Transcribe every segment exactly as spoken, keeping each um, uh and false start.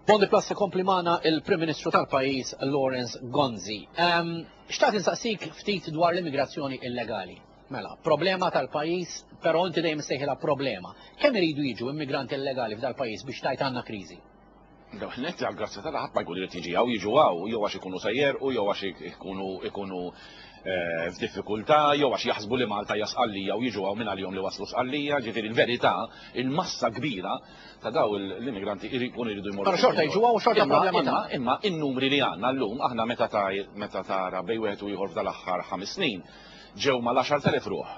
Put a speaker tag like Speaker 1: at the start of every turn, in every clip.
Speaker 1: Bondi Plus ikompli magħna il-Prim Ministru tal-pajjiż, Lawrence Gonzi. Um, Xtaqt insaqsik ftit dwar l-immigrazzjoni illegali. Mela, problema tal-pajjiż, però inti dejjem sejħilha problema. Kemm iridu jiġu immigranti illegali f'dal-pajjiż biex tgħid għandna kriżi?
Speaker 2: Net għal-grazzja tal ħadd ma jkun irid jiġi hawn, jiġu hawn, jew għax ikunu sejjer u jew għax ikunu ikunu eh, f'diffikultà, jew għax jaħsbu li Malta hija Sqallija u jiġu hawn minn għalihom li waslu Sqallija. Ġifieri l-verità, il-massa kbira ta' daw l-immigranti jkunu jridu jmorru.
Speaker 1: Però xorta jiġu hawn, xorta problema
Speaker 2: ta' Imma in-numri li għandna llum aħna, meta meta tara bejn wieħed u ieħor f'dal-aħħar ħames snin ġew mal-għaxart elef ruħ.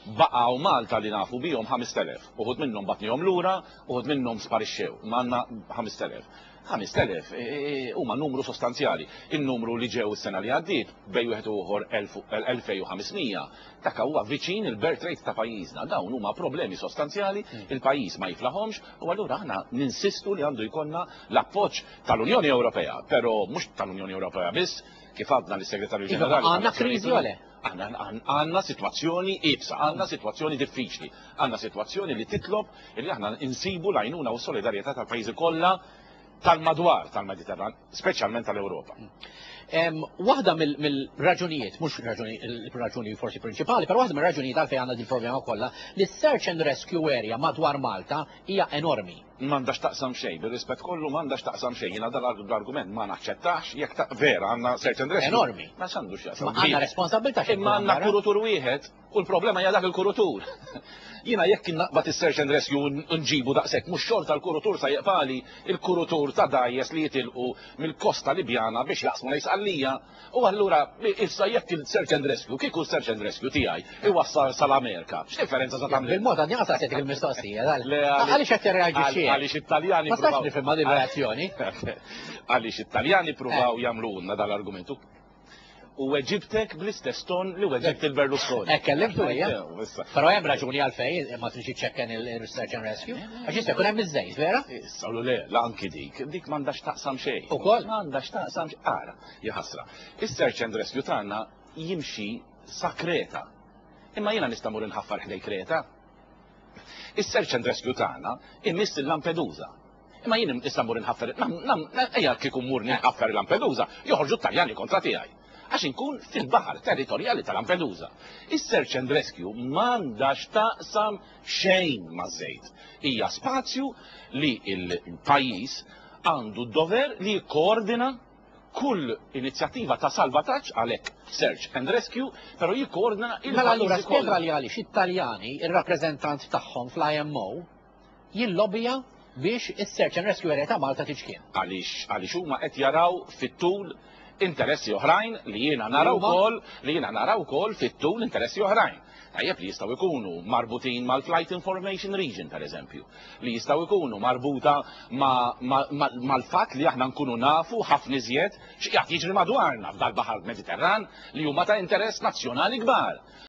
Speaker 2: Baqgħu Malta li nafu bihom ħamest elef. Uħud minnhom bgħatnihom lura, uħud minnhom sparixxew. Għandna ħamest elef. ħamest elef e, e, e, huma numru sostanzjali. Il-numru li ġew is-sena li għaddiet, bejn wieħed u ieħor elfejn u ħames mija, dak huwa viċin il-birth rate ta' pajjiżna. Dawn huma problemi sostanzjali, hmm. il-pajjiż ma jiflaħomx u allura aħna ninsistu li għandu jkollna l-appoġġ tal-Unjoni Ewropea, però mhux tal-Unjoni Ewropea biss, kif għadna lis-Segretarju
Speaker 1: iva, Ġenerali. Għandna kriżi għale?
Speaker 2: Għandna situazzjoni iebsa, għandna situazzjoni diffiċli, għandna situazzjoni li titlob li aħna insibu l-għajnuna u solidarjetà tal-pajjiżi kollha tal-madwar tal-Mediterran, speċjalment tal-Ewropa.
Speaker 1: Waħda mill-raġunijiet, mhux raġuni forsi prinċipali, però waħda mill-raġunijiet għalfejn għandna din problema kollha, li search and rescue area madwar Malta hija enormi.
Speaker 2: M'għandax taqsam xejn, bir-rispett kollu, m'għandax taqsam xejn. Jiena dal-argument ma naċċettax, jekk ta' vera għandna search and rescue.
Speaker 1: Enormi.
Speaker 2: Ma x'għandu x'jaqsam.
Speaker 1: Ma għandna responsabilità.
Speaker 2: Imma għandna kurutur wieħed u l-problema hija dak il-kurutur. Jiena jekk naqbad is-search and rescue nġibu daqshekk, mhux xorta l-kurutur sa jeqpali il-kurutur ta' dgħajjes li jitilqu mill-kosta Libjana biex jaqsmu lejn Sqallija? U allura issa jekk il-search and rescue, kieku search and rescue tiegħi iwassal sal-Amerika, x'differenza sa tagħmel?
Speaker 1: Bil-mod għadni għasaqsejtek il-mistoqsija. Għaliex qed tirreaġixxi?
Speaker 2: Għaliex it-Taljani
Speaker 1: Ma stax nifhimha din reazzjoni.
Speaker 2: Għaliex it-Taljani pruvaw jagħmlulna dal-argumentu. U weġibtek bl-istess ton li weġibt il-Berlusconi.
Speaker 1: Hekk kellimtu hija. Però hemm raġuni għalfejn ma tridx iċċekken il-search and rescue. Għax jista' jkun hemm iż-żejt, vera?
Speaker 2: Issa, le, la anki dik, dik m'għandax taqsam xejn.
Speaker 1: Ukoll?
Speaker 2: M'għandax taqsam xejn. Ara, jaħasra. Is-search and rescue tagħna jimxi sa Kreta. Imma jiena nista' mur inħaffar ħdej Kreta. Is-search and rescue tagħna imiss il-Lampedusa. Imma jien issa mur inħaffer, ejja kieku mur nħaffer il-Lampedusa, joħorġu t-Taljani kontra tiegħi. Għax inkun fil-baħar territorjali ta' Lampedusa. Is-search and rescue m'għandax taqsam xejn ma' żejt. Hija spazju li il-pajjiż għandu d-dover li jikkoordina kull inizjattiva ta' salvataġġ, għalhekk search and rescue, però jikkoordina il
Speaker 1: Mela allura spjega li għaliex it-Taljani, ir-rappreżentant tagħhom fl-I M O, jillobija biex is-search and rescue area ta' Malta tiċkien.
Speaker 2: Għaliex għaliex huma qed jaraw fit-tul interessi oħrajn li jiena nara wkoll li jiena nara wkoll fit-tul interessi oħrajn. Tajjeb, li jistgħu jkunu marbutin mal-Flight Information Region, per eżempju, li jistgħu jkunu marbuta mal-fatt li aħna nkunu nafu ħafna iżjed x'qiegħed jiġri madwarna f'dal-baħar Mediterran li huma ta' interess nazzjonali kbar.